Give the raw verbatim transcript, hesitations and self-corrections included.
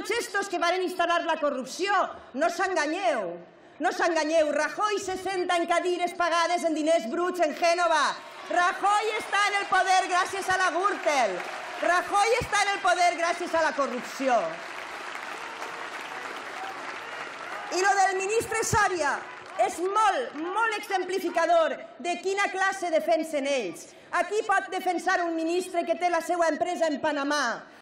tots estos que van instal·lar la corrupció. No s'enganyeu, no s'enganyeu. Rajoy se senta en cadires pagades en diners bruts en Gènova. Rajoy està en el poder gràcies a la Gürtel. Rajoy està en el poder gràcies a la corrupció. I lo del ministre Soria és molt, molt exemplificador de quina classe defensen ells. Aquí pot defensar un ministre que té la seva empresa en Panamà.